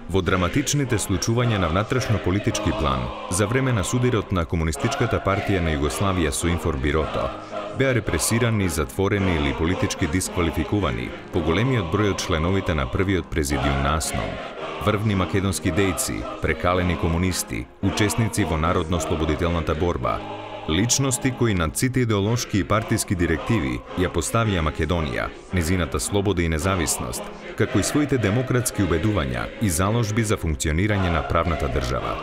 Во драматичните случувања на внатрешно-политички план, за време на судирот на Комунистичката партија на Југославија со информбирото, беа репресирани, затворени или политички дисквалификувани поголемиот број од членовите на првиот президиум на АСНОМ, врвни македонски дејци, прекалени комунисти, учесници во народно-слободителната борба, личности кои над сите идеолошки и партиски директиви ја поставија Македонија, незината слобода и независност, како и своите демократски убедувања и заложби за функционирање на правната држава.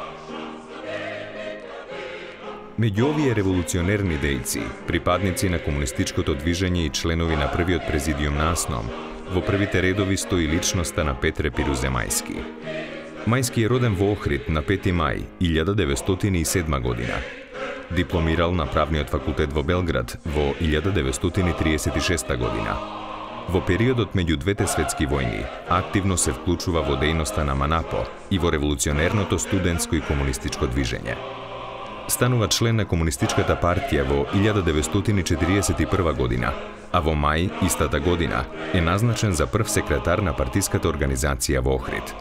Меѓу овие револуционерни дејци, припадници на комунистичкото движење и членови на првиот президиум на АСНОМ, во првите редови стои личноста на Петре Пирузе Мајски. Мајски е роден во Охрид на 5 мај 1907 година. Дипломирал на Правниот факултет во Белград во 1936 година. Во периодот меѓу двете светски војни активно се вклучува во дејноста на МАНАПО и во револуционерното студентско и комунистичко движење. Станува член на Комунистичката партија во 1941 година, а во мај истата година е назначен за прв секретар на партиската организација во Охрид.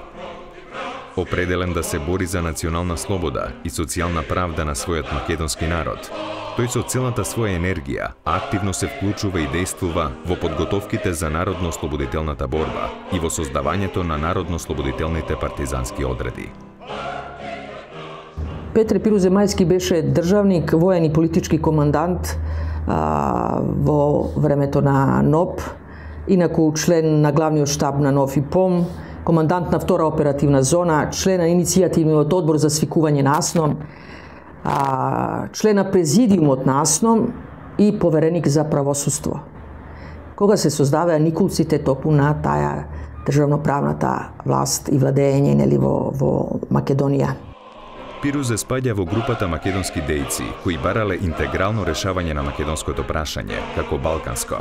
Определен да се бори за национална слобода и социјална правда на својот македонски народ, тој со целата своја енергија активно се вклучува и действува во подготовките за народно-слободителната борба и во создавањето на народно-слободителните партизански одреди. Петре Пирузе Мајски беше државник, воен и политички командант во времето на НОП, инаку член на главниот штаб на НОФИПОМ, командант на втора оперативна зона, член на иницијативниот одбор за свикување на АСНОМ, член на президиумот на АСНОМ и повереник за правосудство. Кога се создаваа никулците токму на таа државноправната власт и владење во Македонија. Пирузе спаѓа во групата македонски дејци кои барале интегрално решавање на македонското прашање, како балканско.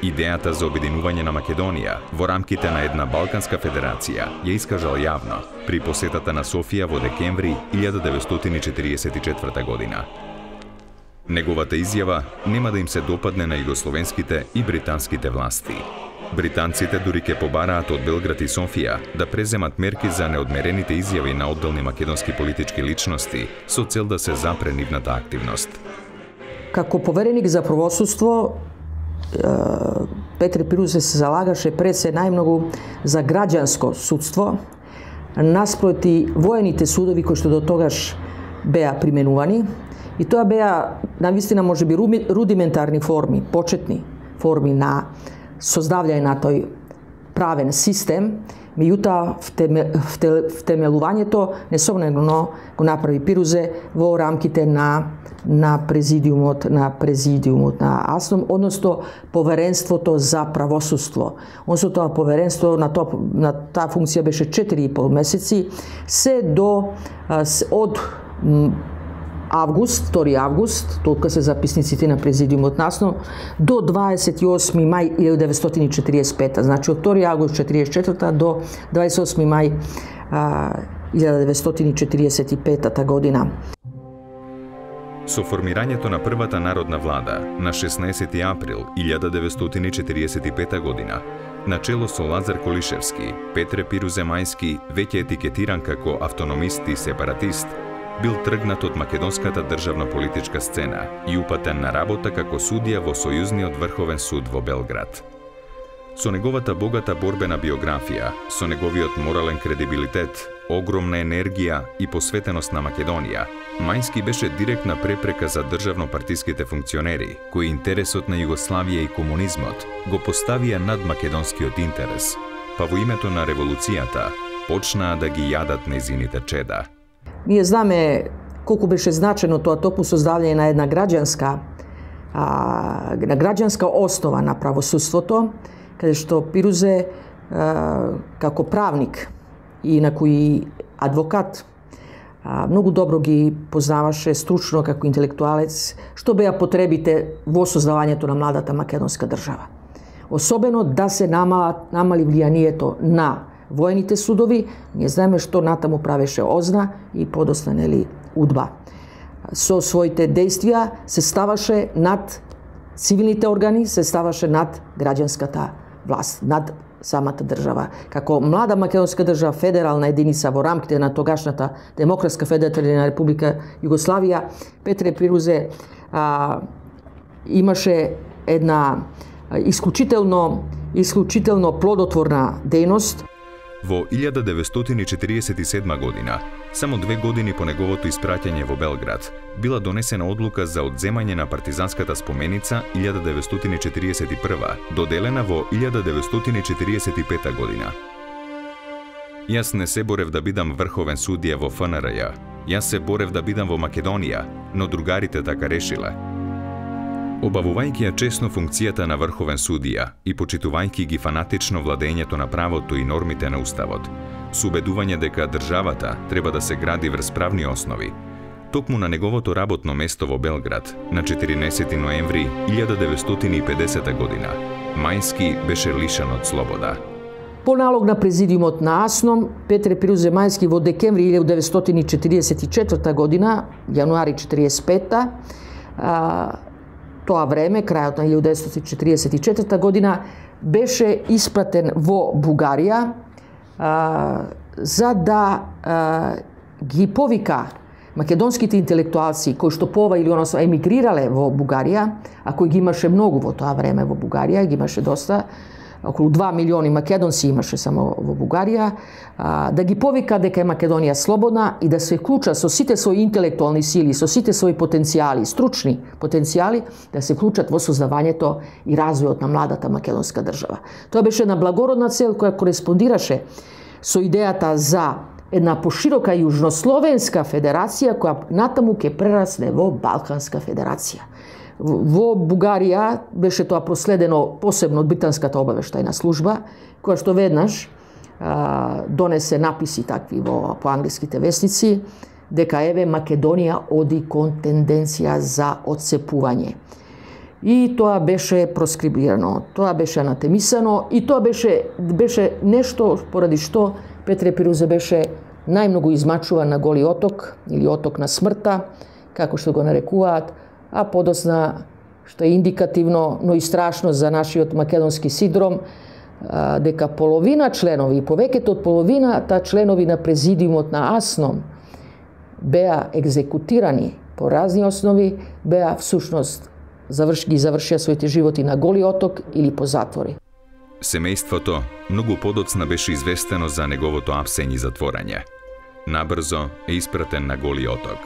Идејата за обединување на Македонија во рамките на една Балканска федерација ја искажал јавно при посетата на Софија во декември 1944 година. Неговата изјава нема да им се допадне на југословенските и британските власти. Британците дури ќе побараат од Белград и Софија да преземат мерки за неодмерените изјави на одделни македонски политички личности со цел да се запре нивната активност. Како повереник за правосудство, Петре Пирузе се залагаше пред се најмногу за граѓанско судство, наспроти воените судови кои што до тогаш беа применувани, и тоа беа навистина можеби рудиментарни форми, почетни форми на создавање на тој правен систем, меѓутоа втемелувањето несомнено го направи Пирузе во рамките на президиумот на АСНОМ, односно поверенството за правосудство. Односно тоа поверенство на таа функција беше 4,5 месеци, се до од август, 2 август, толку се записниците на президиумот на АСНОМ, до 28 мај 1945, значи од 2 август 1944 до 28 мај 1945 година. Со формирањето на првата народна влада на 16 април 1945 година, начело со Лазар Колишевски, Петре Пирузе Мајски, веќе етикетиран како автономист и сепаратист, бил тргнат од македонската државно-политичка сцена и упатен на работа како судија во Сојузниот врховен суд во Белград. Со неговата богата борбена биографија, со неговиот морален кредибилитет, огромна енергија и посветеност на Македонија, Мајски беше директна препрека за државно-партиските функционери, кои интересот на Југославија и комунизмот го поставија над македонскиот интерес, па во името на револуцијата почнаа да ги јадат незините чеда. Ние знаме колку беше значено тоа токму создавање на една граѓанска основа на правосудството, каде што Пирузе како правник и инаку и адвокат многу добро ги познаваше стручно како интелектуалец што беа потребите во создавањето на младата македонска држава. Особено да се намали влијанието на воените судови, ние знаеме што натаму правеше ОЗНА и подосна УДБА. Со своите действија се ставаше над цивилните органи, се ставаше над граѓанската власт, над самата држава. Како млада македонска држава, федерална единица во рамките на тогашната Демократска федеративна република Југославија, Петре Пирузе имаше една исклучително плодотворна дејност. Во 1947 година, само 2 години по неговото испраќање во Белград, била донесена одлука за одземање на партизанската споменица 1941, доделена во 1945 година. Јас не се борев да бидам врховен судија во ФНРЈ, јас се борев да бидам во Македонија, но другарите така решиле. Обавувајќи ја чесно функцијата на врховен судија и почитувајќи ги фанатично владењето на правото и нормите на Уставот, со убедување дека државата треба да се гради врз правни основи, токму на неговото работно место во Белград, на 14 ноември 1950 година, Мајски беше лишен од слобода. По налог на президиумот на АСНОМ, Петре Пирузе Мајски во декември 1944 година, јануари 1945, тоа време, крајот на 1944 година, беше испратен во Бугарија за да ги повика македонските интелектуалци кои што по ова или оно емигрирале во Бугарија, а кои ги имаше многу во тоа време во Бугарија, ги имаше доста, околу 2 милиони македонци имаше само во Бугарија, да ги повика дека е Македонија слободна и да се вклучат со сите своји интелектуални сили, со сите своји потенцијали, стручни потенцијали, да се вклучат во создавањето и развојот на младата македонска држава. Тоа беше една благородна цел која кореспондираше со идејата за една поширока јужнословенска федерација која натаму ќе прерасне во Балканска федерација. Во Бугарија беше тоа проследено посебно од британската обавештајна служба, која што веднаш донесе написи такви по англиските весници, дека еве Македонија оди кон тенденција за отцепување. И тоа беше проскрибирано, тоа беше анатемисано и тоа беше нешто поради што Петре Пирузе беше најмногу измачуван на Голи оток или оток на смртта, како што го нарекуваат, а подосна, што е индикативно, но и страшно за нашиот македонски синдром, дека половина членови, повеќето од половината членови на президиумот на АСНОМ беа екзекутирани по разни основи, беа всушност ги завршија своите животи на Голи оток или по затвори. Семејството многу подоцна беше известено за неговото апсење и затворање. Набрзо е испратен на Голи оток,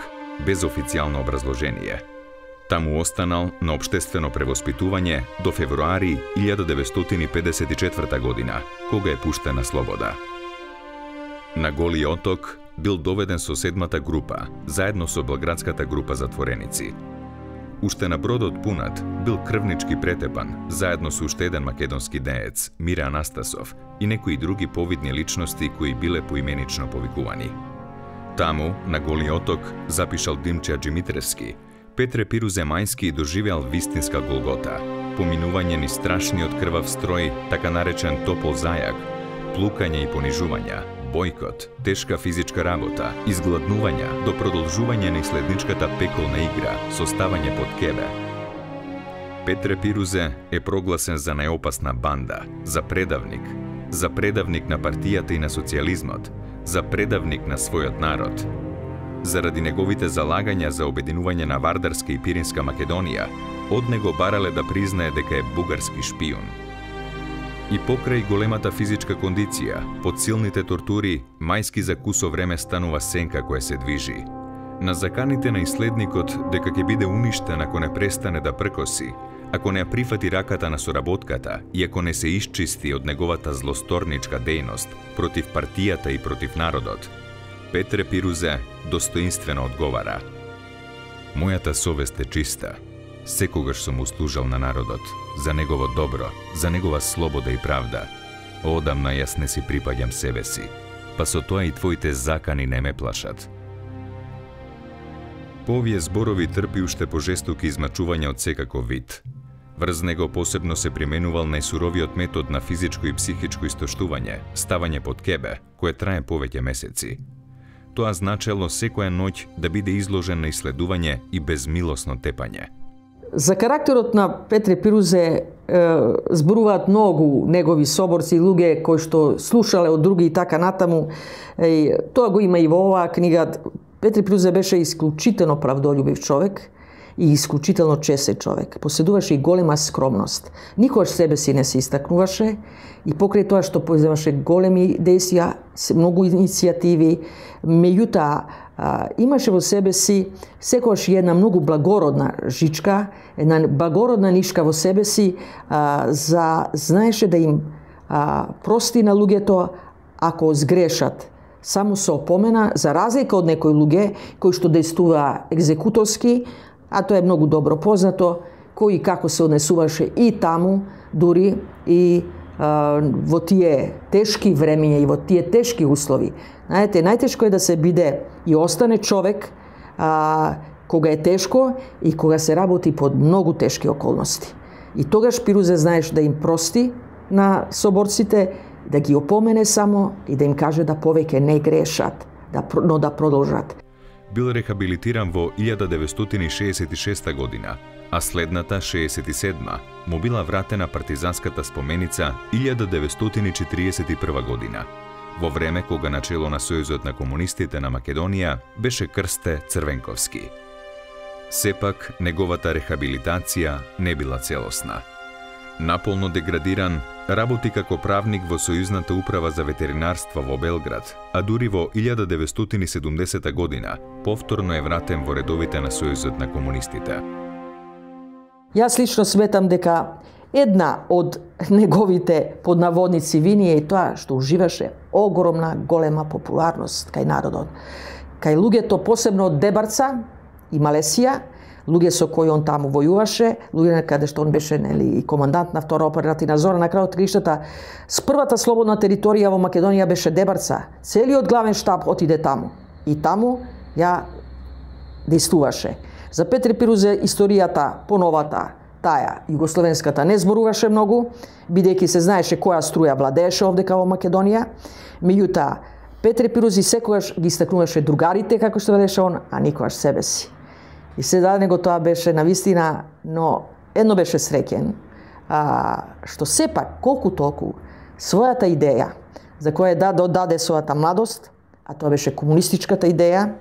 без официјално образложение. Таму останал на општествено превоспитување до февруари 1954 година, кога е пуштен на слобода. На Голи оток бил доведен со 7-та група, заедно со Белградската група затвореници. Уште на бродот пунат бил крвнички претепан, заедно со уште еден македонски деец, Мире Анастасов, и некои други повидни личности кои биле поименично повикувани. Таму, на Голи оток, запишал Димче Аџимитревски, Петре Пирузе Мајски доживеал вистинска голгота, поминување ни страшниот крвав строј, така наречен топол зајак, плукање и понижувања, бојкот, тешка физичка работа, изгладнувања до продолжување на иследничката пеколна игра, составање под кебе. Петре Пирузе е прогласен за најопасна банда, за предавник на партијата и на социјализмот, за предавник на својот народ. Заради неговите залагања за обединување на Вардарска и Пиринска Македонија, од него барале да признае дека е бугарски шпион. И покрај големата физичка кондиција, под силните тортури, Мајски за кусо време станува сенка која се движи. На заканите на иследникот дека ќе биде уништен ако не престане да пркоси, ако не ја прифати раката на соработката и ако не се исчисти од неговата злосторничка дејност против партијата и против народот, Петре Пирузе достоинствено одговара: "Мојата совест е чиста. Секогаш сум услужал на народот, за негово добро, за негова слобода и правда. Одамна јас не си припаѓам себе си, па со тоа и твоите закани не ме плашат." По овие зборови трпи уште пожестоки измачувања од секаков вид. Врз него посебно се применувал најсуровиот метод на физичко и психичко истоштување, ставање под кебе, кое трае повеќе месеци. Тоа значело секоја ноќ да биде изложен на иследување и безмилосно тепање. За карактерот на Петре Пирузе зборуваат многу негови соборци, луѓе кои што слушале од други и така натаму. Тоа го има и во оваа книга. Петре Пирузе беше исклучително правдолюбив човек и исклучително честен човек. Поседуваше и голема скромност. Никогаш себе си не се истакнуваше и покрај тоа што поземаше големи действија, многу иницијативи, меѓутоа имаше во себе си секогаш една многу благородна жичка, една благородна нишка во себе си, знаеше да им прости на луѓето ако сгрешат. Само се опомена, за разлика од некои луѓе кои што действува екзекуторски, а тоа е многу добро познато, кој и како се однесуваше и таму, дури и во тие тешки времења и во тие тешки услови. Знаете, најтешко е да се биде и остане човек кога е тешко и кога се работи под многу тешки околности. И тогаш Пирузе знаеш да им прости на соборците, да ги опомене само и да им каже да повеќе не грешат, но да продолжат. Бил рехабилитиран во 1966 година, а следната 67 му била вратена партизанската споменица 1941 година, во време кога начело на Сојузот на комунистите на Македонија беше Крсте Црвенковски. Сепак, неговата рехабилитација не била целосна. Наполно деградиран, работи како правник во Сојузната управа за ветеринарство во Белград, а дури во 1970 година повторно е вратен во редовите на Сојузот на комунистите. Јас лично сметам дека една од неговите поднаводници вини е тоа што уживаше огромна, голема популарност кај народот. Кај луѓето, посебно од Дебарца и Малесија, луѓе со кои он таму војуваше, луѓе каде што он беше и командант на втора оперативна зона, на крајот криштата, с првата слободна територија во Македонија беше Дебарца. Целиот главен штаб отиде таму. И таму ја действуваше. За Петре Пирузе историјата поновата, таа југословенската, не зборуваше многу, бидејќи се знаеше која струја владееше овдека во Македонија. Меѓутоа, Петре Пирузе секогаш ги истакнуваше другарите, како што велеше он, а никогаш себе си. И сега него тоа беше навистина, но едно беше среќен, што сепак, колку толку, својата идеја, за која даде својата младост, а тоа беше комунистичката идеја,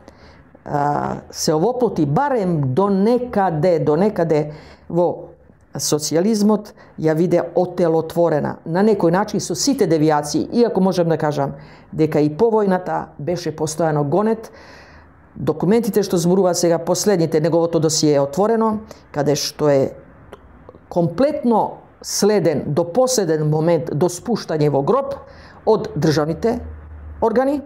се овоплоти барем до некаде во социјализмот, ја виде отелотворена на некој начин со сите девијации, иако можем да кажам дека и по војната беше постојано гонет. Документите што зборува сега, последните, неговото досие е отворено, каде што е комплетно следен до последен момент до спуштање во гроб од државните органи,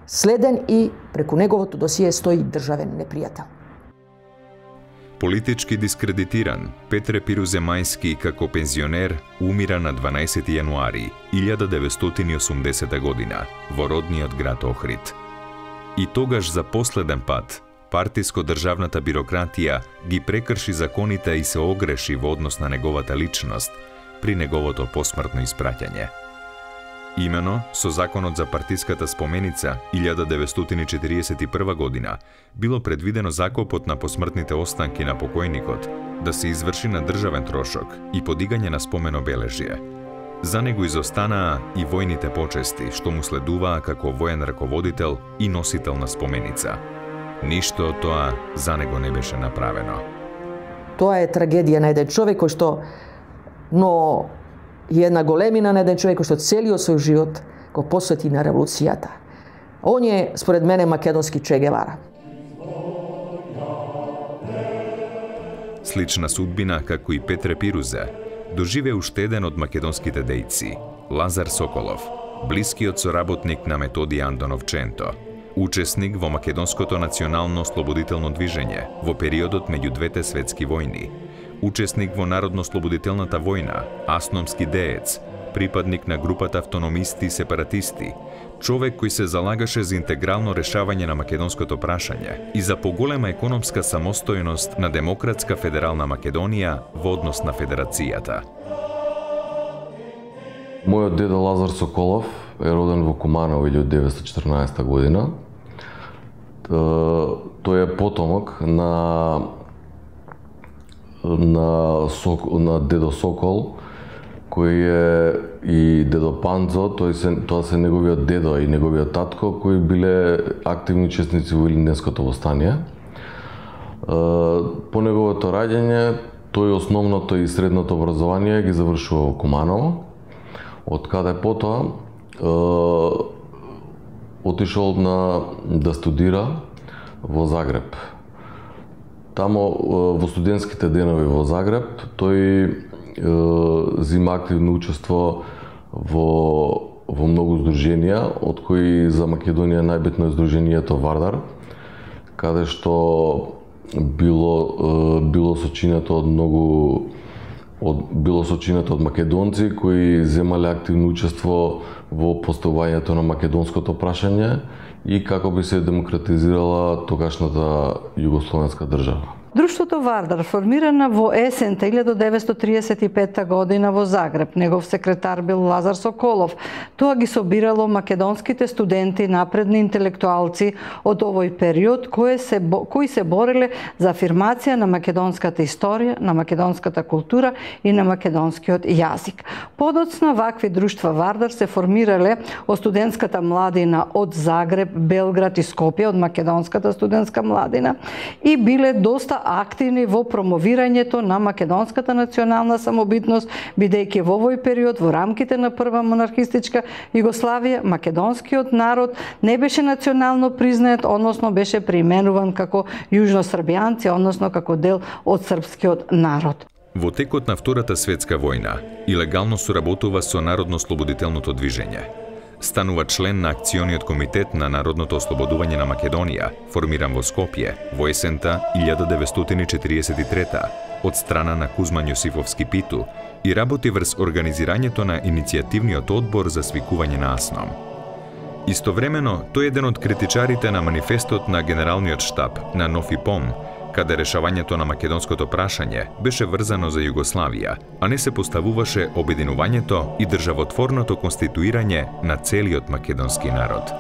следен и преку неговото досие стои државен непријател. Политички дискредитиран, Петре Пирузе Мајски како пензионер умира на 12 јануари 1980 година во родниот град Охрид. И тогаш за последен пат партиско-државната бирократија ги прекрши законите и се огреши во однос на неговата личност при неговото посмртно испраќање. Имено, со законот за партиската споменица 1941 година било предвидено закопот на посмртните останки на покојникот да се изврши на државен трошок и подигање на споменобележје. За него изостанаа и војните почести што му следуваа како воен раководител и носител на споменица. Ништо од тоа за него не беше направено. Тоа е трагедија на еден човек кој што, но и една големина на еден човек кој што целиот свој живот го посвети на револуцијата. Он е, според мене, македонски Че Гевара. Слична судбина како и Петре Пирузе доживе уште еден од македонските дејци, Лазар Соколов, блискиот соработник на Методи Андонов Ченто, учесник во македонското национално ослободително движење во периодот меѓу двете светски војни, учесник во Народно-слободителната војна, асномски деец, припадник на групата автономисти и сепаратисти, човек кој се залагаше за интегрално решавање на македонското прашање и за поголема економска самостојност на Демократска федерална Македонија во однос на федерацијата. Мојот деда Лазар Соколов е роден во Кумана во 1914 година. Тој е потомок на на дедо Сокол, кој е и дедо Панзо, тоа се неговиот дедо и неговиот татко, кои биле активни учесници во Илинденското востание. По неговото раѓање, тој основното и средното образование ги завршува во Куманово, од каде потоа отишол да студира во Загреб. Тамо во студентските денови во Загреб тој зима активно учество во многу здруженија, од кои за Македонија најбитно е здруженијето Вардар, каде што било сочинето од македонци кои земале активно учество во поставувањето на македонското прашање и како би се демократизирала тогашната југословенска држава. Друштвото Вардар формирана во есента 1935 година во Загреб. Негов секретар бил Лазар Соколов. Тоа ги собирало македонските студенти, напредни интелектуалци од овој период кои се бореле за афирмација на македонската историја, на македонската култура и на македонскиот јазик. Подоцна вакви друштва Вардар се формирале од студентската младина од Загреб, Белград и Скопје, од македонската студентска младина и биле доста активни во промовирањето на македонската национална самобитност, бидејќи во овој период во рамките на прва монархистичка Југославија македонскиот народ не беше национално признаат, односно беше преименуван како јужносрбијанци, односно како дел од српскиот народ. Во текот на Втората светска војна илегално соработува со Народно-слободителното движење. Станува член на Акциониот комитет на Народното ослободување на Македонија, формиран во Скопје во есента 1943 од страна на Кузман Јосифовски Питу и работи врз организирањето на иницијативниот одбор за свикување на АСНОМ. Истовремено, тој е еден од критичарите на манифестот на Генералниот штаб на НОФИПОМ, каде решавањето на македонското прашање беше врзано за Југославија, а не се поставуваше обединувањето и државотворното конституирање на целиот македонски народ.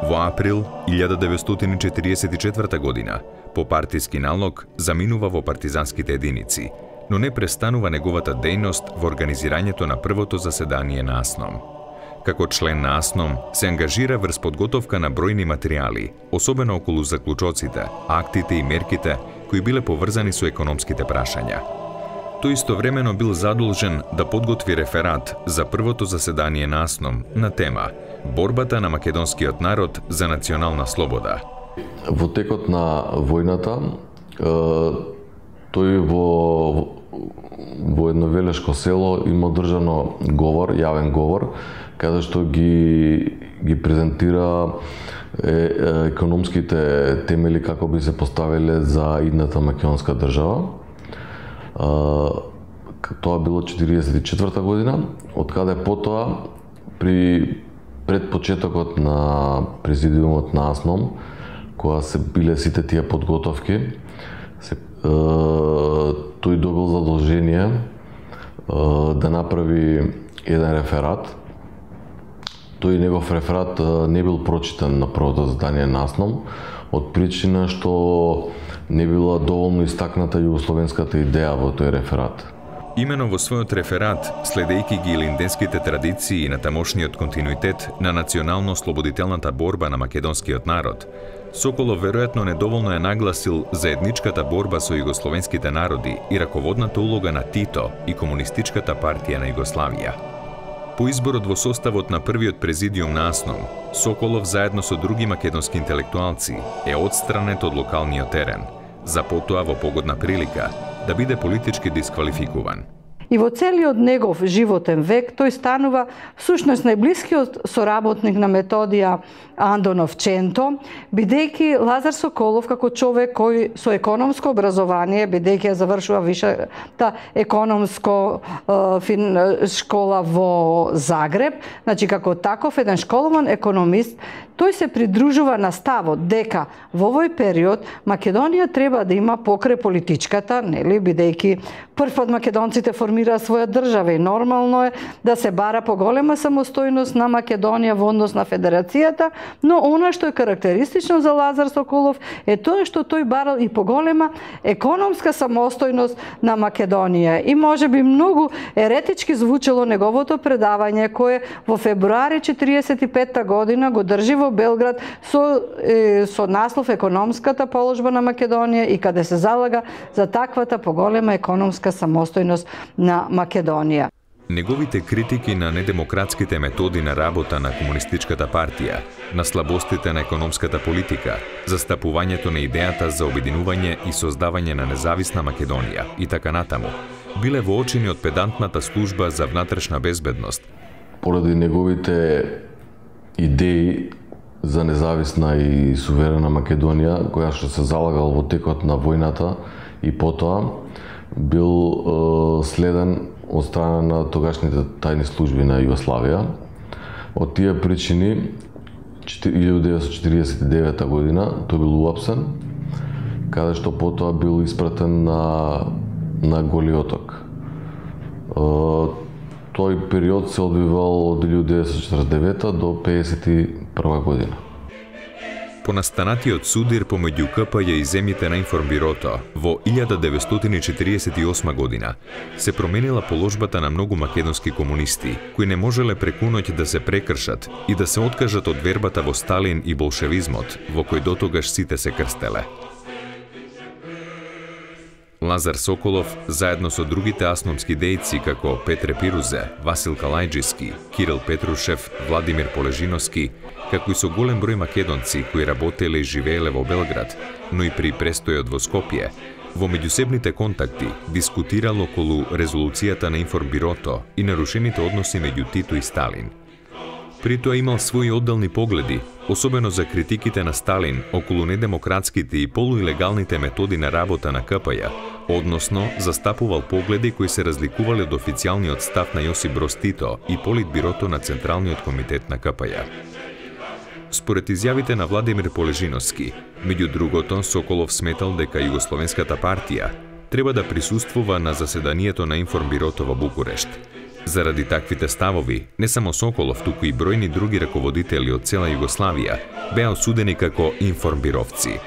Во април 1944 година, по партиски налог, заминува во партизанските единици, но не престанува неговата дејност во организирањето на првото заседание на АСНОМ. Како член на АСНОМ се ангажира врз подготовка на бројни материјали, особено околу заклучоците, актите и мерките кои биле поврзани со економските прашања. Тој истовремено бил задолжен да подготви реферат за првото заседание на АСНОМ на тема Борбата на македонскиот народ за национална слобода. Во текот на војната, тој во едно велешко село има одржано говор, јавен говор, каде што ги презентира економските темели како би се поставиле за идната македонска држава. Тоа било 1944 година, од каде потоа пред почетокот на президиумот на АСНОМ, кога се биле сите тие подготовки, тој добил задолжение да направи еден реферат. Тој негов реферат не бил прочитан на првото заседание на АСНОМ, од причина што не била доволно истакната југословенската идеја во тој реферат. Имено во својот реферат, следејќи ги илинденските традиции и на тамошниот континуитет на национално-слободителната борба на македонскиот народ, Соколов веројатно недоволно е нагласил заедничката борба со југословенските народи и раководната улога на Тито и Комунистичката партија на Југославија. По изборот во составот на првиот президиум на АСНОМ, Соколов заедно со други македонски интелектуалци е отстранет од локалниот терен, за потоа во погодна прилика да биде политички дисквалификуван. И во целиот негов животен век тој станува всушност најблискиот соработник на Методија Андонов Ченто, бидејќи Лазар Соколов како човек кој со економско образование, бидејќи ја завршува висшата економско школа во Загреб, значи како таков еден школован економист, тој се придружува на ставот дека во овој период Македонија треба да има покрај политичката, нели, бидејќи прв пат македонците формираат формира своја држава и нормално е да се бара поголема самостојност на Македонија во однос на Федерацијата, но она што е карактеристично за Лазар Соколов е тоа што тој барал и поголема економска самостојност на Македонија. И можеби многу еретички звучело неговото предавање кое во февруари 1945 година го држи во Белград со наслов Економската положба на Македонија и каде се залага за таквата поголема економска самостојност на Македонија. Неговите критики на недемократските методи на работа на Комунистичката партија, на слабостите на економската политика, застапувањето на идејата за обединување и создавање на независна Македонија и така натаму, биле воочени од педантната служба за внатрешна безбедност. Поради неговите идеи за независна и суверена Македонија, која што се залагал во текот на војната и потоа, бил следен од страна на тогашните тајни служби на Југославија. Од тие причини, 1949 година, тој бил уапсен, каде што потоа бил испратен на Голи оток. Тој период се одвивал од 1949 до 1951 година. По настанатиот судир помеѓу КПЈ и земјите на Информбирото во 1948 година се променила положбата на многу македонски комунисти, кои не можеле преку ноќ да се прекршат и да се откажат од вербата во Сталин и болшевизмот, во кој дотогаш сите се крстеле. Лазар Соколов, заедно со другите асномски дејци како Петре Пирузе, Васил Калајџиски, Кирил Петрушев, Владимир Полежиновски, како и со голем број македонци кои работеле и живееле во Белград, но и при престојот во Скопје, во меѓусебните контакти дискутирал околу резолуцијата на Информбирото и нарушените односи меѓу Тито и Сталин. При тоа имал своји одделни погледи, особено за критиките на Сталин околу недемократските и полуилегалните методи на работа на КПЈ, односно застапувал погледи кои се разликувале од официјалниот став на Јосип Броз Тито и Политбирото на Централниот комитет на КПЈ. Според изјавите на Владимир Полежиновски, меѓу другото, Соколов сметал дека Југословенската партија треба да присуствува на заседанието на Информбирото во Букурешт. Заради таквите ставови, не само Соколов, туку и бројни други раководители од цела Југославија беа осудени како информбировци.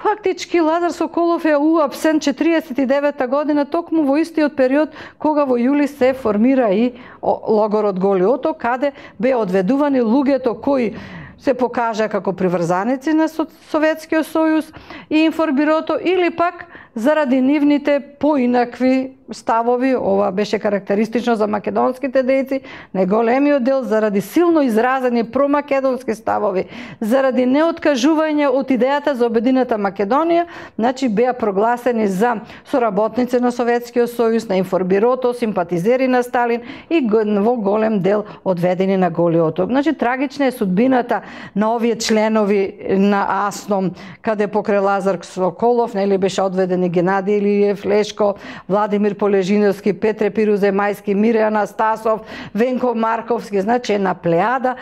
Фактички Лазар Соколов е уапсен 1949 година токму во истиот период кога во јули се формира и логорот Голи оток, каде беа одведувани луѓето кои се покажа како приврзаници на Советскиот сојуз и Информбирото или пак заради нивните поинакви ставови, ова беше карактеристично за македонските дејци, најголемиот дел заради силно изразени промакедонски ставови, заради неоткажување од идејата за обединета Македонија, значи беа прогласени за соработници на Советскиот сојуз, на Информбирото, симпатизери на Сталин и во голем дел одведени на Голи оток. Значи трагична е судбината на овие членови на АСНОМ, каде покрај Лазар Соколов, нели беше одведени Генадиј Илиев, Лешко, Владимир Полежиновски, Петре Пирузе Мајски, Мире Анастасов, Венко Марковски, значи една плејада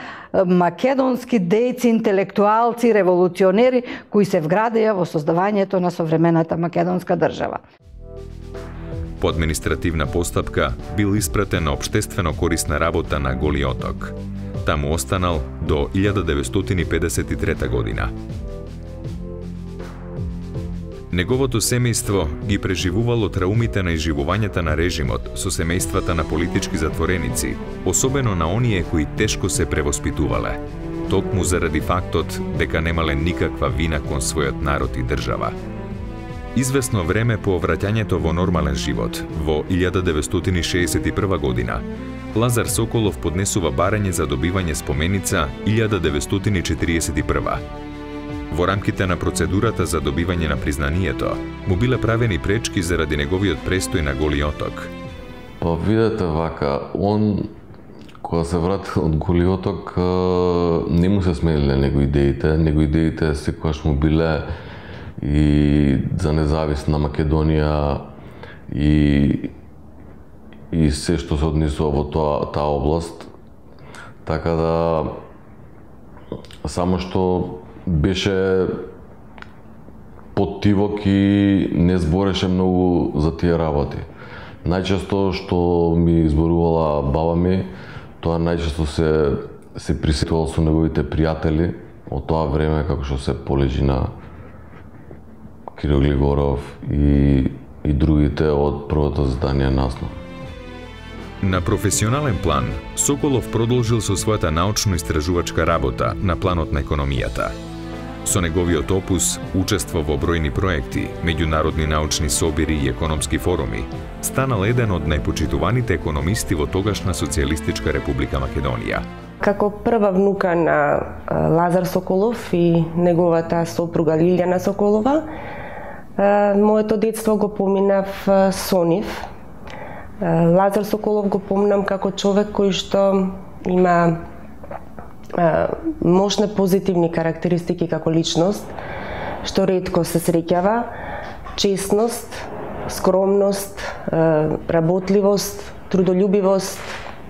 македонски дејци, интелектуалци, револуционери кои се вградеа во создавањето на современата македонска држава. По административна постапка бил испратен на општествено корисна работа на Голи оток. Таму останал до 1953 година. Неговото семејство ги преживувало траумите на изживувањата на режимот со семејствата на политички затвореници, особено на оние кои тешко се превоспитувале, токму заради фактот дека немале никаква вина кон својот народ и држава. Извесно време по враќањето во нормален живот, во 1961 година, Лазар Соколов поднесува барање за добивање споменица 1941. Во рамките на процедурата за добивање на признанието, му биле правени пречки заради неговиот престој на Голи оток. Па видете вака, он кога се врати од Голи оток, не му се смениле него идеите секогаш му биле и за независна Македонија и се што се однесува во таа област. Така да, само што беше поттивок и не збореше многу за тие работи. Најчесто што ми изборувала баба ми, тоа најчесто се присетувал со неговите пријатели од тоа време, како што се Полежи на Кирил Глигоров и другите од првото издание Насно. На професионален план, Соколов продолжил со својата научно-истражувачка работа на планот на економијата. Со неговиот опус учество во бројни проекти, меѓународни научни собири и економски форуми, станал еден од најпочитуваните економисти во тогашна Социјалистичка република Македонија. Како прва внука на Лазар Соколов и неговата сопруга Лилјана Соколова, моето детство го поминав со нив. Лазар Соколов го помнам како човек кој што има мощни позитивни карактеристики како личност, што ретко се среќава: честност, скромност, работливост, трудолюбивост,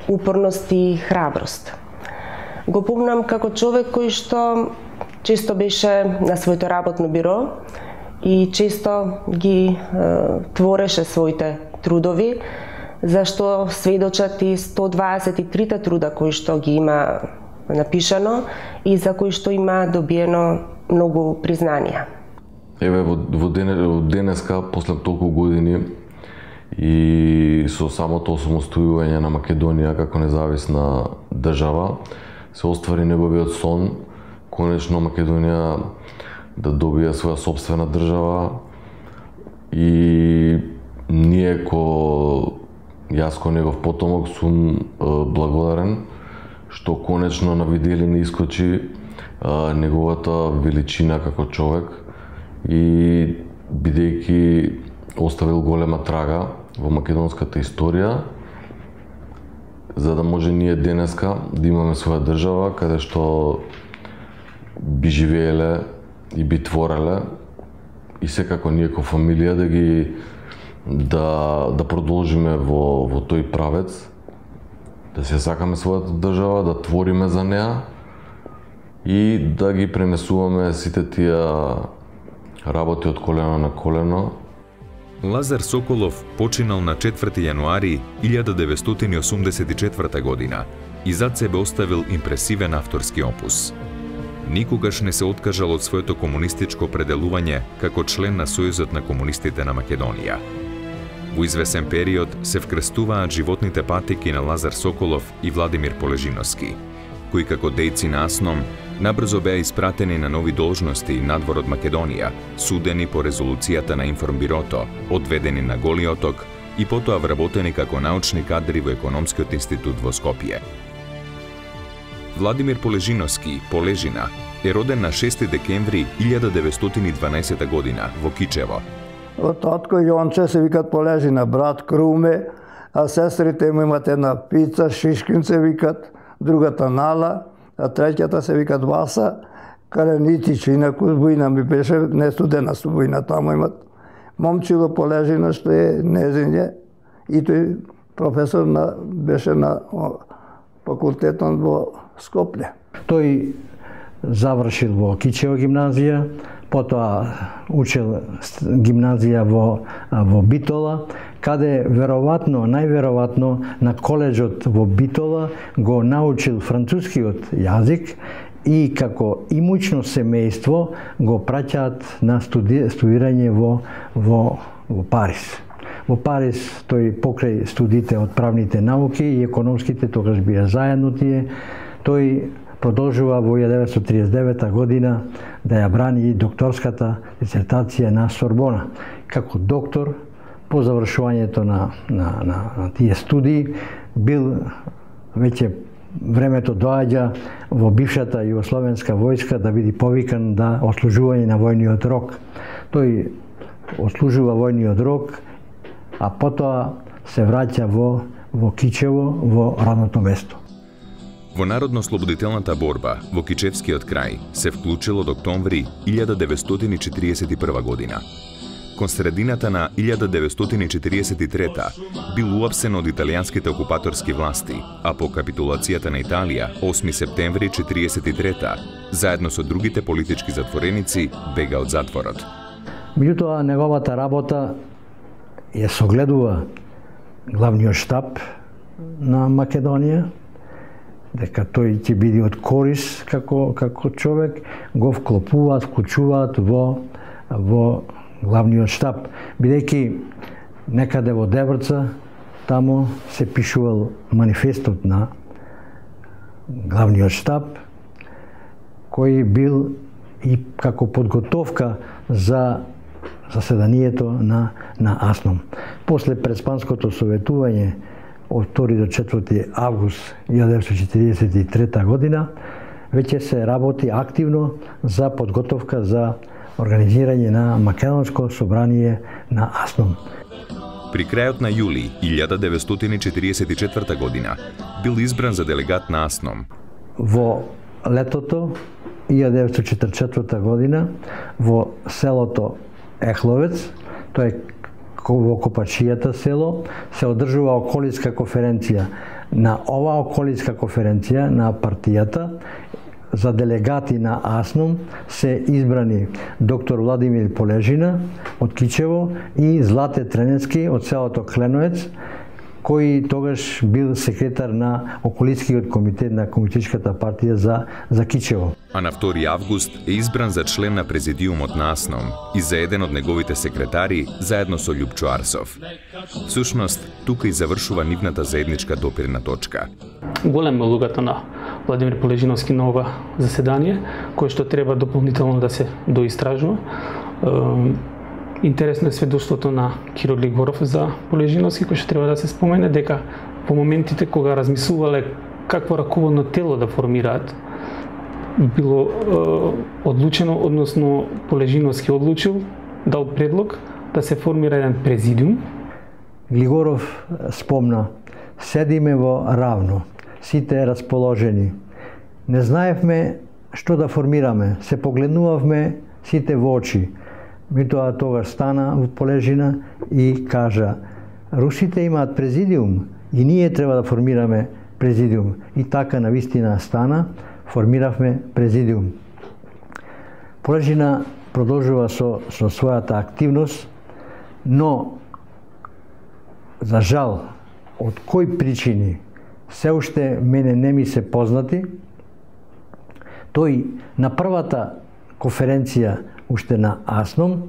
упорност и храброст. Го помнам како човек кој што често беше на своето работно биро и често ги твореше своите трудови, зашто сведочат и 123 труда кои што ги има напишано и за кои што има добиено многу признанија. Еве во денеска, после толку години и со самото осамостојување на Македонија како независна држава, се оствари неговиот сон, конечно Македонија да добие своја сопствена држава, и ние јас ко негов потомок сум благодарен што конечно на виделина искочи неговата величина како човек и бидејќи оставил голема трага во македонската историја, за да може ние денеска да имаме своја држава каде што би живееле и би твореле и секако ние ко фамилија да продолжиме во тој правец, да се сакаме својата држава, да твориме за неа и да ги пренесуваме сите тие работи од колено на колено. Лазар Соколов починал на 4 јануари 1984 година и зад себе оставил импресивен авторски опус. Никогаш не се откажал од своето комунистичко определување како член на Сојузот на комунистите на Македонија. Во извесен период се вкрестуваат животните патеки на Лазар Соколов и Владимир Полежиновски, кои како дејци на АСНОМ набрзо беа испратени на нови должности надвор од Македонија, судени по резолуцијата на Информбирото, одведени на Голи оток и потоа вработени како научни кадри во Економскиот институт во Скопје. Владимир Полежиновски, Полежина, е роден на 6 декември 1912 година во Кичево. Од татко Јонче се викат Полежина, брат Круме, а сестрите му имат една Пица, Шишкинце викат, другата Нала, а третјата се викат Васа, Каренитич, инаку војна ми беше, не студена со војна, таму имат момчило Полежина, што е незиње, и тој професор беше на факултетот во Скопје. Тој завршил во Кичево гимназија, потоа учел гимназија во Битола, каде најверојатно на коледжот во Битола го научил францускиот јазик и како имучно семејство го праќаат на студирање во Париз. Во Париз тој покрај студите од правните науки и економските, тогаш бија заедно тие, тој продолжува во 1939 година да ја брани докторската дисертација на Сорбона. Како доктор, по завршувањето на тие студии, бил веќе времето доаѓа во бившата југословенска војска да биде повикан да отслужување на војниот рок. Тој отслужува војниот рок, а потоа се враќа во Кичево, во родното место. Во народно-слободителната борба во Кичевскиот крај се вклучил од октомври 1941 година. Кон средината на 1943 бил уапсен од италијанските окупаторски власти, а по капитулацијата на Италија 8 септември 1943 заедно со другите политички затвореници бега од затворот. Меѓутоа неговата работа ја согледува главниот штаб на Македонија, дека тој ќе биде од корис како човек, го вклучуваат во главниот штаб, бидејќи некаде во Дебрца таму се пишувал манифестот на главниот штаб, кој бил и како подготовка за заседанието на АСНОМ. После преспанското советување од 2 до 4 август 1943 година веќе се работи активно за подготовка за организирање на Македонско собрание на АСНОМ. При крајот на јули 1944 година бил избран за делегат на АСНОМ. Во летото 1944 година во селото Ехловец, тоа е во Копачијата село, се одржува околинска конференција. На оваа околинска конференција на партијата за делегати на АСНОМ се избрани доктор Владимир Полежина од Кичево и Злате Тренецки од селото Кленоец, кој тогаш бил секретар на околинскиот комитет на Комунистичката партија за Кичево. А на 2 август е избран за член на президиумот на АСНОМ и за еден од неговите секретари заедно со Љупчо Арсов. Всушност, тука и завршува нивната заедничка допирна точка. Голема улогата на Владимир Полежиновски на ова заседание, кое што треба дополнително да се доистражува. Интересно е сведоштвото на Киро Глигоров за Полежиновски, кој што треба да се спомене, дека во моментите кога размислувале какво раководно тело да формираат, било одлучено, односно Полежиновски одлучил, дал предлог да се формира еден президиум. Глигоров спомна: седиме во равно, сите расположени. Не знаевме што да формираме, се погледнувавме сите во очи. Митоа тогаш стана во Полежина и кажа: русите имаат президиум и ние треба да формираме президиум. И така навистина стана, формиравме президиум. Полежина продолжува со својата активност, но за жал, од кои причини се уште мене не ми се познати, тој на првата конференција уште на АСНОМ,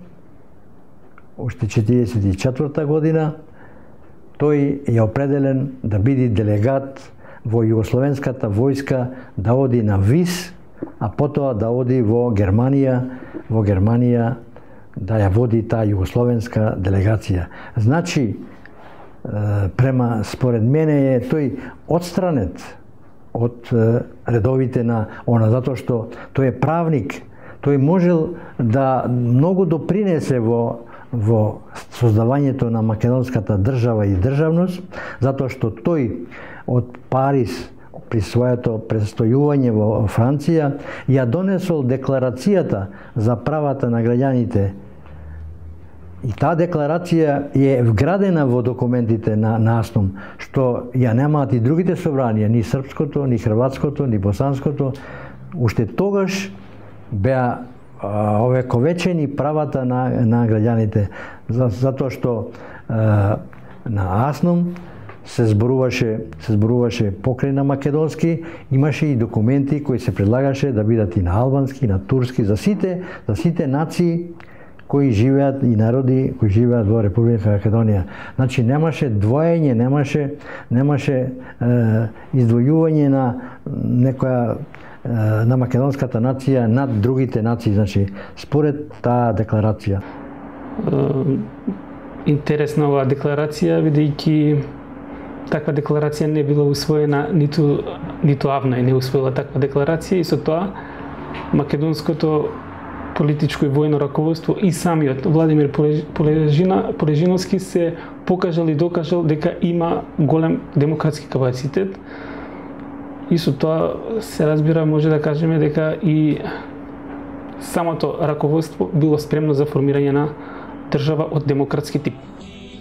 уште 1944 година, тој е определен да биде делегат во Југословенската војска, да оди на ВИС, а потоа да оди во Германија да ја води таа југословенска делегација. Значи, според мене е тој отстранет од редовите на она, затоа што тој е правник. Тој можел да многу допринесе во создавањето на македонската држава и државност, затоа што тој од Париз при своето престојување во Франција ја донесол декларацијата за правата на граѓаните. И таа декларација е вградена во документите на АСНОМ, што ја немаат и другите собранија, ни српското, ни хрватското, ни босанското. Уште тогаш беа овековечени правата на граѓаните, затоа што на АСНОМ се зборуваше покрај на македонски, имаше и документи кои се предлагаше да бидат и на албански, на турски, за сите нации кои живеат и народи кои живеат во Република Македонија. Значи немаше двоење, немаше издвојување на некоја на македонската нација над другите нации, значи според таа декларација. Интересна оваа декларација, бидејќи таква декларација не била усвоена ниту АВНО не усвоила таква декларација, и со тоа македонското политичко и војно раководство и самиот Владимир Полежиновски се покажал и докажал дека има голем демократски капацитет, и со тоа се разбира, може да кажеме дека и самото раководство било спремно за формирање на држава од демократски тип.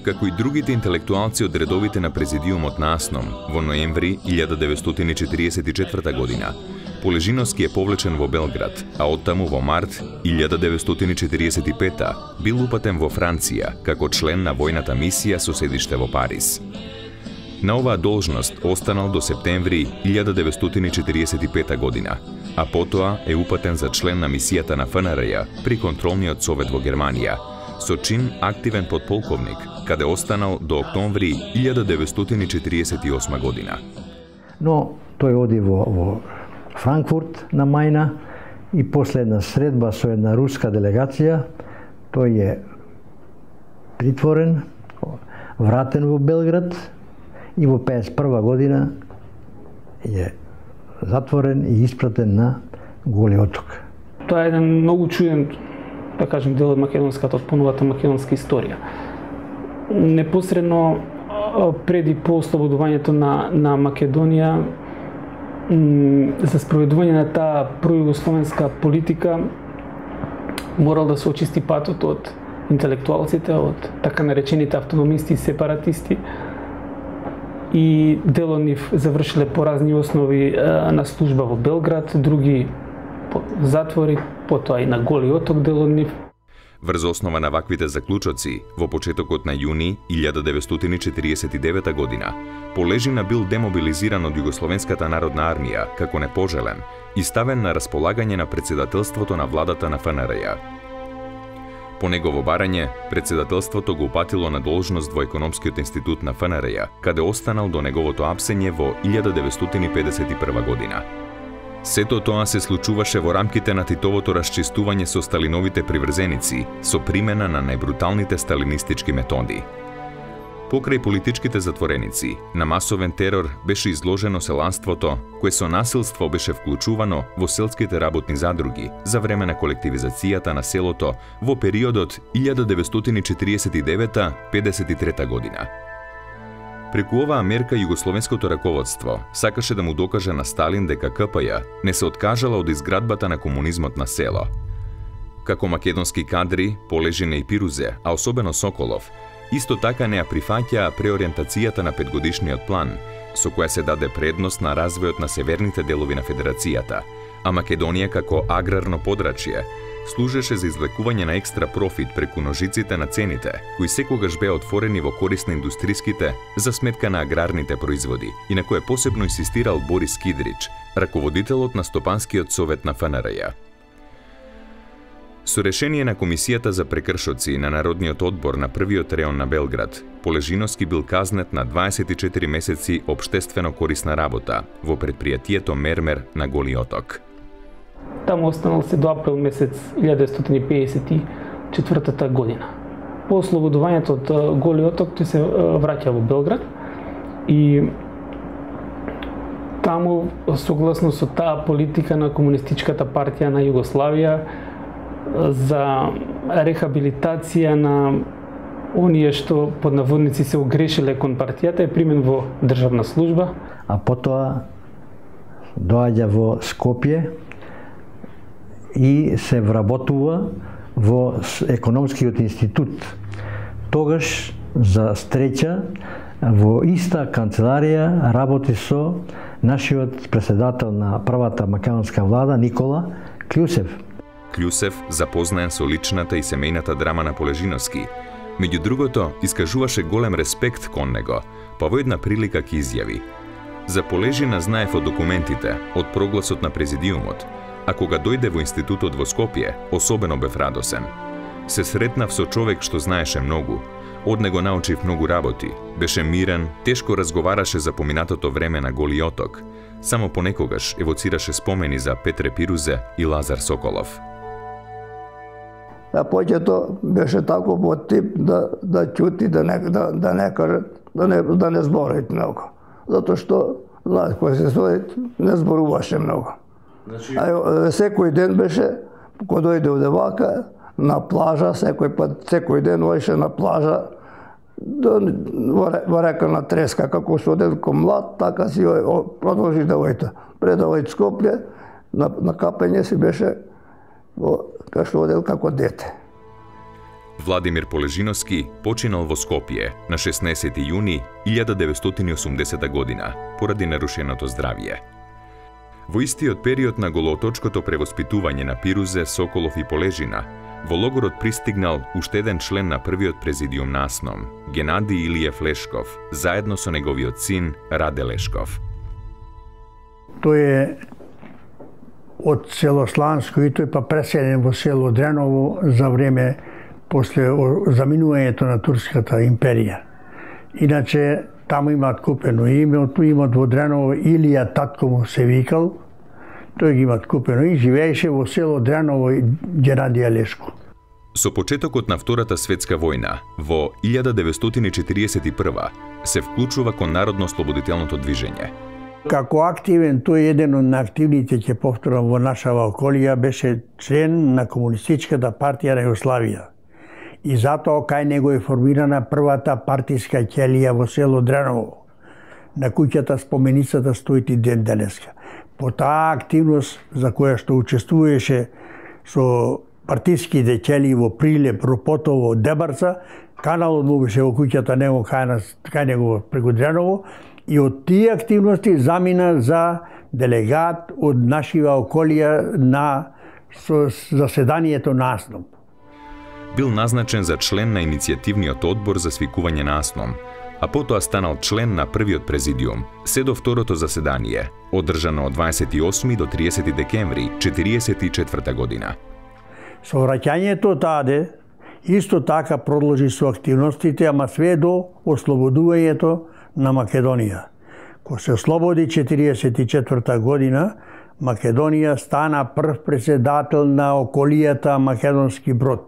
Како и другите интелектуалци од редовите на президиумот на АСНОМ, во ноември 1944 година, Полежиновски е повлечен во Белград, а оттаму во март 1945 бил упатен во Франција како член на војната мисија со седиште во Париз. На оваа должност останал до септември 1945 година, а потоа е упатен за член на мисијата на ФНРЈ при контролниот совет во Германија, со чин активен подполковник, каде останал до октомври 1948 година. Но тој оди во Франкфурт на Мајна и после една средба со една руска делегација, тој е притворен, вратен во Белград и во 51 година е затворен и испратен на Голи оток. Тоа е еден многу чуден, да кажем, дел од македонската, од поновата македонска историја. Непосредно преди по ослободувањето на Македонија, за спроведување на таа пројугословенска политика морал да се очисти патот од интелектуалците, од така наречените автономисти и сепаратисти, и дел од нив завршиле по разни основи на служба во Белград, други по затвори, потоа и на Голи оток дел од нив. Врз основа на ваквите заклучоци, во почетокот на јуни 1949 година, Полежина бил демобилизиран од Југословенската народна армија како непожелен и ставен на располагање на председателството на владата на ФНРЈ. По негово барање, председателството го упатило на должност во Економскиот институт на ФНРЈ, каде останал до неговото апсење во 1951 година. Сето тоа се случуваше во рамките на Титовото расчистување со Сталиновите приврзеници, со примена на најбруталните сталинистички методи. Покрај политичките затвореници, на масовен терор беше изложено селанството, кое со насилство беше вклучувано во селските работни задруги за време на колективизацијата на селото во периодот 1949-53 година. Преку оваа мерка југословенското раководство сакаше да му докаже на Сталин дека КПЈ не се откажала од изградбата на комунизмот на село. Како македонски кадри, Полежина и Пирузе, а особено Соколов, исто така не ја прифаќаа преориентацијата на петгодишниот план, со која се даде предност на развојот на северните делови на Федерацијата, а Македонија како аграрно подрачје служеше за извлекување на екстра профит преку ножиците на цените, кои секогаш беа отворени во корист на индустриските за сметка на аграрните производи, и на кое посебно инсистирал Борис Кидрич, раководителот на Стопанскиот совет на ФНРЈ. Со решение на Комисијата за прекршоци на Народниот одбор на првиот реон на Белград, Полежиновски бил казнет на 24 месеци општествено корисна работа во предпријатието Мермер на Голи оток. Таму останал се до април месец 1954 година. По ослободувањето од Голи оток тој се враќа во Белград и таму, согласно со таа политика на Комунистичката партија на Југославија за рехабилитација на оние што под наводници се огрешиле кон партијата, е примен во државна служба. А потоа доаѓа во Скопје и се вработува во Економскиот институт. Тогаш, за среќа, во иста канцеларија работи со нашиот председател на првата македонска влада, Никола Клјусев. Клјусев, запознаен со личната и семејната драма на Полежиновски, меѓу другото, искажуваше голем респект кон него, па во една прилика ќе изјави: "За Полежина знаев од документите, од прогласот на президиумот, а кога дојде во институтот во Скопје, особено бев радосен. Се сретнав со човек што знаеше многу, од него научив многу работи, беше мирен, тешко разговараше за поминатото време на Голи оток, само понекогаш евоцираше спомени за Петре Пирузе и Лазар Соколов." А поќето беше тако по тип да чути, да не кажат, да не зборат многу. Затоа што, знаеш, кој се стои, не зборуваше многу. Секој ден беше, кога дојде од вака, на плажа, секој ден одеше на плажа, во река на Треска, како што одел ко млад, така си продолжи да ојде. Пред да ојде Скопје, на капење си беше како што одел како дете. Владимир Полежиновски починал во Скопје на 16 јуни 1980 година поради нарушеното здравје. Во истиот период на голооточкото превоспитување на Пирузе, Соколов и Полежина, Во логорот пристигнал уште еден член на првиот президиум на АСНОМ, Генади Илиев Лешков, заедно со неговиот син Раде Лешков. Тој е од село Сланско и тој па преселен во село Дреново за време после заминувањето на Турската империја. Иначе таму имаат купено име, имат во Дреново Илија татко му се викал, тој ги имат купено и живееше во село Дреново Генадија Лешко. Со почетокот на Втората светска војна, во 1941 се вклучува кон народно-слободителното движење. Како активен, тој еден од активните, ќе повторам, во нашава околија, беше член на Комунистичката партија на Југославија. И затоа кај него е формирана првата партиска ќелија во село Дреново. На куќата споменицата стои и ден денеска. По таа активност за која што учествуваше со партиските ќелии во Прилеп, Ропотово, Дебарца, каналот му беше во куќата него кај него преку Дреново и од тие активности замина за делегат од нашива околија на заседанието на АСНОМ. Бил назначен за член на иницијативниот одбор за свикување на АСНОМ, а потоа станал член на првиот президиум, се до второто заседание, одржано од 28 до 30 декември 1944 година. Со враќањето таде, исто така продолжи со активностите, ама све до ослободувањето на Македонија. Кога се ослободи 1944 година, Македонија стана прв председател на околијата Македонски брод.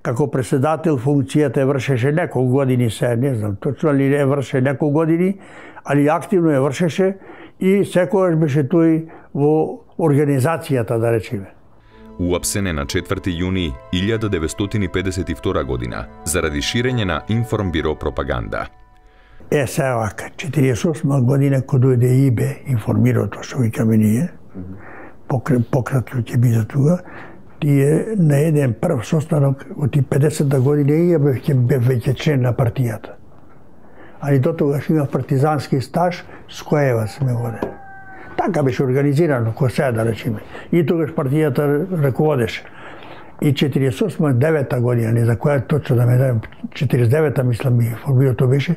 Како председател функцијата вршеше неколку години, се не знам точно ли не врше неколку години, али активно ја вршеше и секогаш беше тој во организацијата, да речеме. Уапсен е на 4 јуни 1952 година заради ширење на информбиро пропаганда. Се вака, 48 година кога дојде ИБЕ, информирото што викаме ние, пократко ќе биде тука, тие на еден прв состанок од 50-та година и бев веќе член на партијата. Али до тогаш имав партизански стаж, с коева сме водени. Така беше организирано, кој сега да речеме. И тогаш партијата раководеше. И 48-9 година, не за која точно да ме дадем, 49-та мислам ми информирото беше,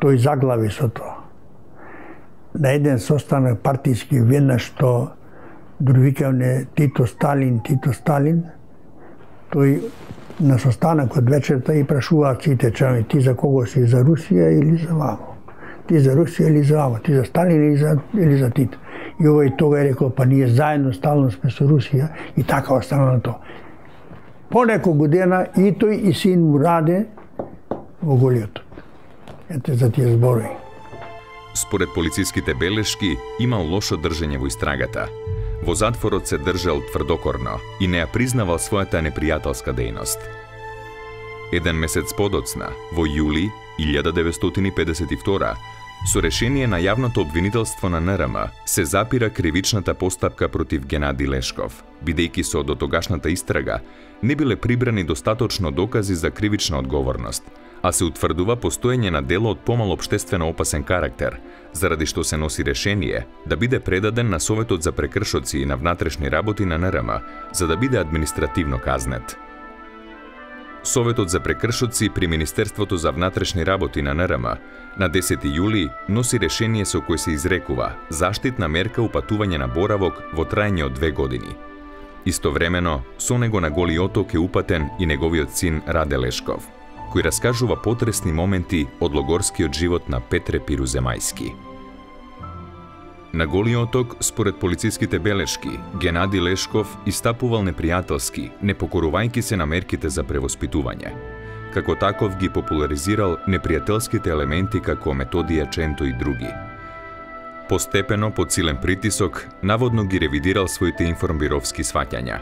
тој заглави со тоа. На еден состанок партиски веднаш што дури викавне Тито Сталин, тој на состанокот вечерта и прашуваат сите членови, ти за кого си, за Русија или за вамо? Ти за Русија или за вамо? Ти за Сталин или за Тито? И овој тога е рекол, па ние заедно стално сме со Русија и така останало тоа. По неколку дена и тој и син му Раде во Голиоток. Ете за тие зборови. Според полициските белешки, имал лошо држење во истрагата. Во затворот се држал тврдокорно и не ја признавал својата непријателска дејност. Еден месец подоцна, во јули 1952, со решение на јавното обвинителство на НРМ, се запира кривичната постапка против Генади Лешков, бидејќи со дотогашната истрага не биле прибрани достаточно докази за кривична одговорност, а се утврдува постоење на дело од помал општествено опасен карактер, заради што се носи решение да биде предаден на Советот за прекршоци и на внатрешни работи на НРМ, за да биде административно казнет. Советот за прекршоци при Министерството за внатрешни работи на НРМ на 10 јули носи решение со кој се изрекува заштитна мерка упатување на боравок во траење од 2 години. Истовремено, со него на Голи Оток е упатен и неговиот син Раде Лешков, кој раскажува потресни моменти од логорскиот живот на Петре Пируземајски. На Голи Оток, според полициските белешки, Генади Лешков истапувал непријателски, не покорувајќи се на мерките за превоспитување. Како таков ги популаризирал непријателските елементи како Методија Ченто и други. Постепено, под силен притисок, наводно ги ревидирал своите информбировски сваќања.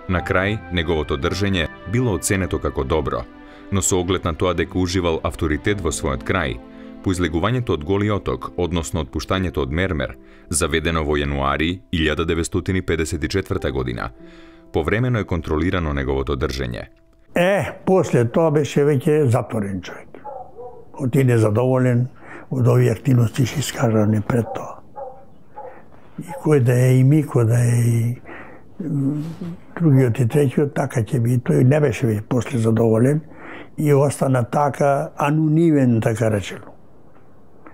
На крај, неговото држење било оценето како добро, но со оглед на тоа дека уживал авторитет во својот крај, по излегувањето од Голи Оток, односно отпуштањето од Мермер, заведено во јануари 1954 година, повремено е контролирано неговото држење. После тоа беше веќе затворен човек. Оти незадоволен од овие активности што искажане пред тоа. И кој да е и ми, кој да е и другиот и третиот така ќе би. Тој не беше после задоволен и остана така анонимен, така речено.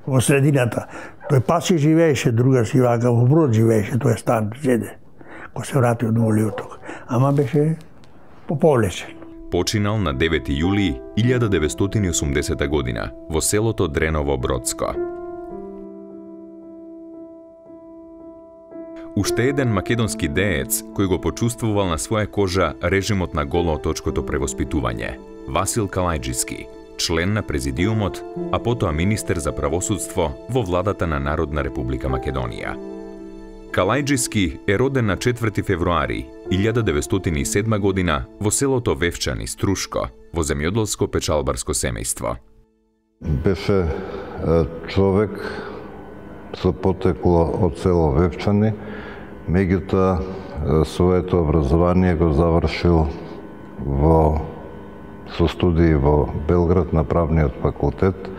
Во средината. Тој паси живееше, друга си вака во Брод живееше, тој стан зеде. Ко се врати од Волиоток. Ама беше поповлечен. Починал на 9 јули 1980 година во селото Дреново Бродско. Уште еден македонски деец кој го почувствувал на своја кожа режимот на голооточкото превоспитување, Васил Калајџиски, член на президиумот, а потоа министер за правосудство во владата на Народна република Македонија. Калајџиски е роден на 4 февруари 1907 година во селото Вевчани, Струшко, во земјоделско-печалбарско семејство. Беше човек со потекло од село Вевчани, меѓутоа своето образование го завршил со студии во Белград на правниот факултет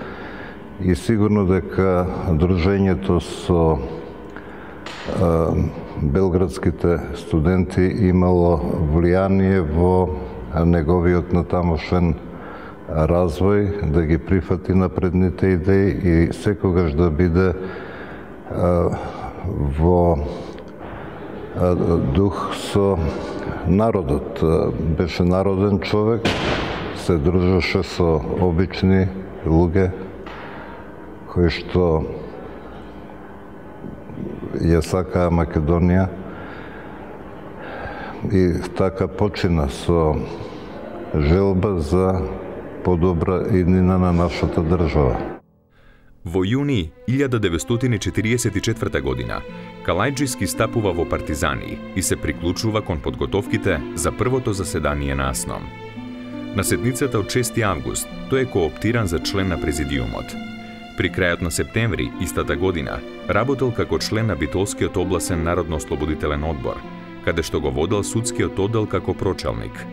и сигурно дека дружењето со белградските студенти имало влијание во неговиот натамошен развој, да ги прифати напредните идеи и секогаш да биде во дух со народот. Беше народен човек, се дружеше со обични луѓе кои што ја сакаа Македонија и така почина со желба за подобра иднина на нашата држава. Во јуни 1944 година Калајџиски стапува во партизани и се приклучува кон подготовките за првото заседание на АСНОМ. На седницата од 6 август тој е кооптиран за член на президиумот. При крајот на септември истата година работел како член на Битолскиот областен народно-ослободителен одбор, каде што го водел судскиот оддел како прочалник.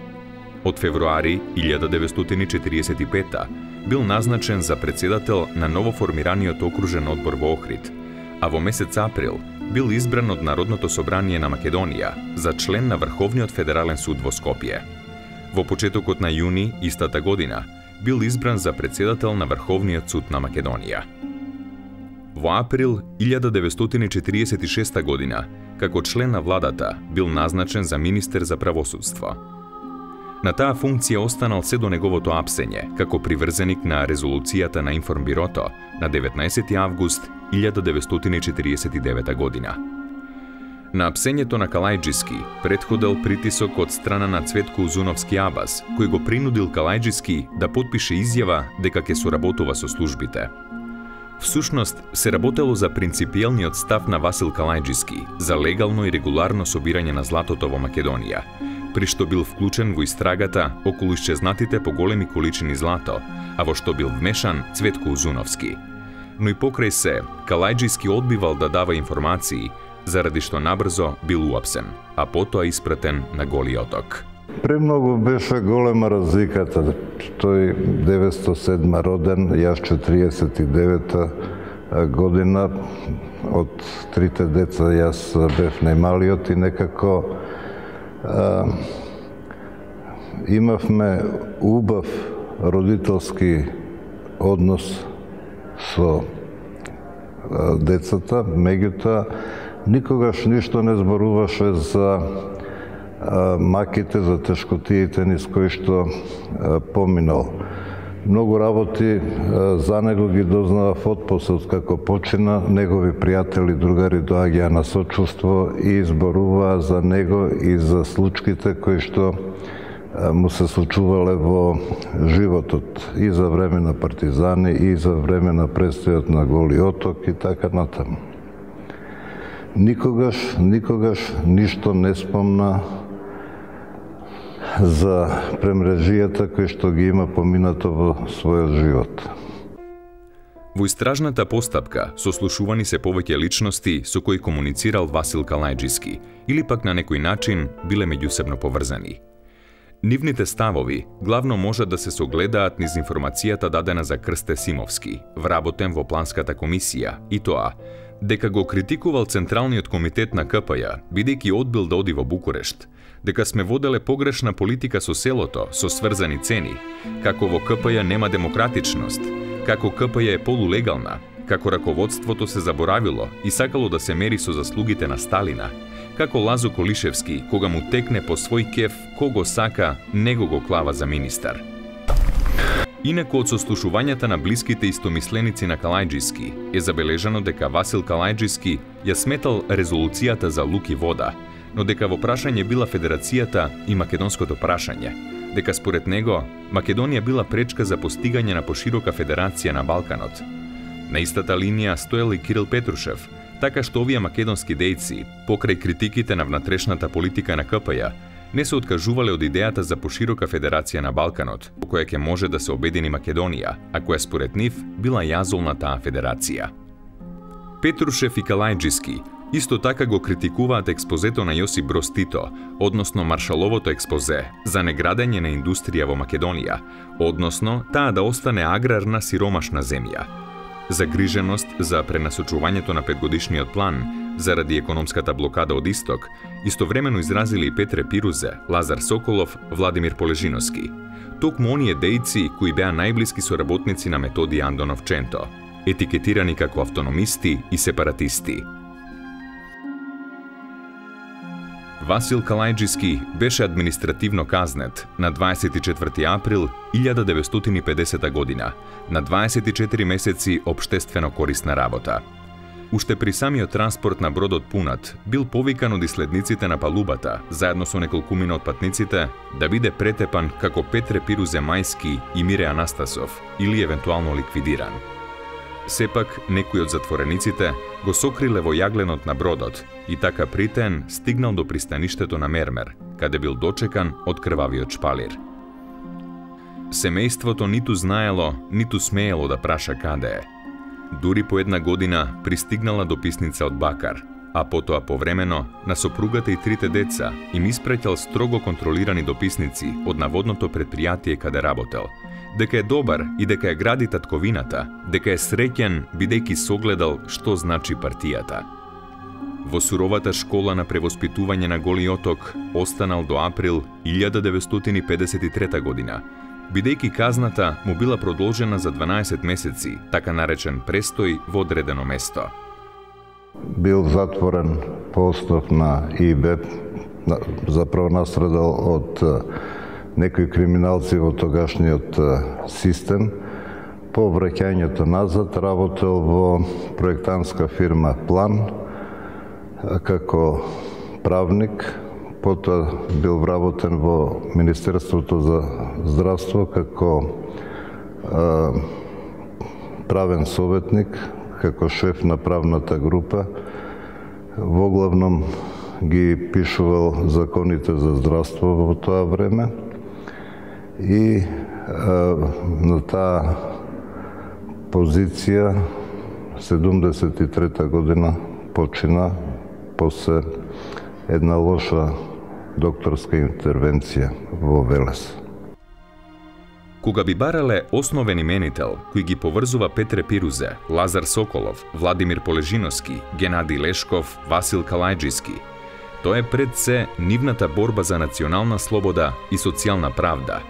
Од февруари 1945 бил назначен за председател на новоформираниот окружен одбор во Охрид, а во месец април бил избран од Народното собрание на Македонија за член на Врховниот федерален суд во Скопје. Во почетокот на јуни истата година бил избран за председател на Врховниот суд на Македонија. Во април 1946 година, како член на владата, бил назначен за министер за правосудство. На таа функција останал се до неговото апсење, како приврзеник на резолуцијата на Информбирото на 19 август 1949 година. На апсењето на Калајџиски претходел притисок од страна на Цветко Узуновски Абас, кој го принудил Калајџиски да потпише изјава дека ќе соработува со службите. Всушност, се работело за принципиелниот став на Васил Калајџиски за легално и регуларно собирање на златото во Македонија, при што бил вклучен во истрагата околу исчезнатите поголеми количини злато, а во што бил вмешан Цветко Узуновски. Но и покрај се, Калајџиски одбивал да дава информации, заради што набрзо бил уапсен, а потоа испратен на Голи оток. Премногу беше голема разликата. Тој 907 роден, јас 49 година, од трите деца јас бев најмалиот и некако имавме убав родителски однос со децата, меѓутоа никогаш ништо не зборуваше за маките, за тешкотиите низ кои што поминал. Многу работи за него ги дознавав отпосle како почина, негови пријатели, другари доаѓаа на сочувство и зборуваа за него и за случките кои што му се случувале во животот и за време на партизани и за време на престојот на Голи оток и така натаму. Никогаш ништо не спомна за премрежијата кои што ги има поминато во својот живот. Во истражната постапка сослушувани се повеќе личности со кои комуницирал Васил Калајџиски или пак на некој начин биле меѓусебно поврзани. Нивните ставови главно можат да се согледаат низ информацијата дадена за Крсте Симовски, вработен во планската комисија, и тоа дека го критикувал Централниот комитет на КПЈ, бидејќи одбил да оди во Букурешт, дека сме воделе погрешна политика со селото, со сврзани цени, како во КПЈ нема демократичност, како КПЈ е полулегална, како раководството се заборавило и сакало да се мери со заслугите на Сталина, како Лазо Колишевски, кога му текне по свој кеф, кого сака, него го клава за министар. Инаку од сослушувањата на блиските истомисленици на Калајџиски е забележано дека Васил Калајџиски ја сметал резолуцијата за лук и вода, но дека во прашање била федерацијата и македонското прашање, дека според него Македонија била пречка за постигање на поширока федерација на Балканот. На истата линија стоел и Кирил Петрушев, така што овие македонски дејци, покрај критиките на внатрешната политика на КПЈ, не се откажувале од идејата за поширока федерација на Балканот, по која ќе може да се обедини Македонија, а која според нив била јазол на таа федерација. Петрушев и Калајџиски исто така го критикуваат експозето на Јосип Броз Тито, односно Маршаловото експозе за неградење на индустрија во Македонија, односно таа да остане аграрна сиромашна земја. Загриженост за пренасочувањето на петгодишниот план заради економската блокада од Исток, истовремено изразили и Петре Пирузе, Лазар Соколов, Владимир Полежиновски. Токму оние дејци кои беа најблиски соработници на Методи Андонов Ченто, етикетирани како автономисти и сепаратисти. Васил Калајџиски беше административно казнет на 24 април 1950 година, на 24 месеци општествено корисна работа. Уште при самиот транспорт на бродот пунат, бил повикан од иследниците на палубата, заедно со неколкумина од патниците, да биде претепан како Петре Пирузе Мајски и Мире Анастасов, или евентуално ликвидиран. Сепак, некои од затворениците го сокриле во јагленот на бродот и така притен стигнал до пристаништето на Мермер, каде бил дочекан од крвавиот шпалир. Семејството ниту знаело, ниту смеело да праша каде е. Дури по една година пристигнала дописница од Бакар, а потоа повремено на сопругата и трите деца им испраќал строго контролирани дописници од наводното предпријатие каде работел, дека е добар и дека е гради татковината, дека е среќен бидејќи согледал што значи партијата. Во суровата школа на превоспитување на Голи Оток останал до април 1953 година, бидејќи казната му била продолжена за 12 месеци, така наречен престој во одредено место. Бил затворен по основ на ИБ, заправо настрадал од некои криминалци во тогашниот систем. По враќањето назад работел во проектантска фирма План како правник, потоа бил вработен во Министерството за здравство како правен советник, како шеф на правната група. Воглавном ги пишувал законите за здравство во тоа време и на таа позиција 73 година почина после една лоша докторска интервенција во Велес. Кога би барале основен именител кој ги поврзува Петре Пирузе, Лазар Соколов, Владимир Полежиновски, Генади Лешков, Васил Калајџиски, тоа е пред се нивната борба за национална слобода и социјална правда,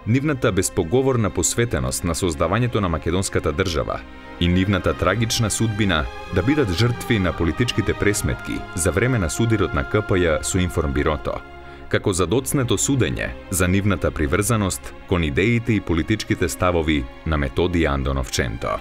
нивната безпоговорна посветеност на создавањето на македонската држава и нивната трагична судбина да бидат жртви на политичките пресметки за време на судирот на КПЈ со Информбирото, како за доцнето судење за нивната приврзаност кон идеите и политичките ставови на Методи Андонов Ченто.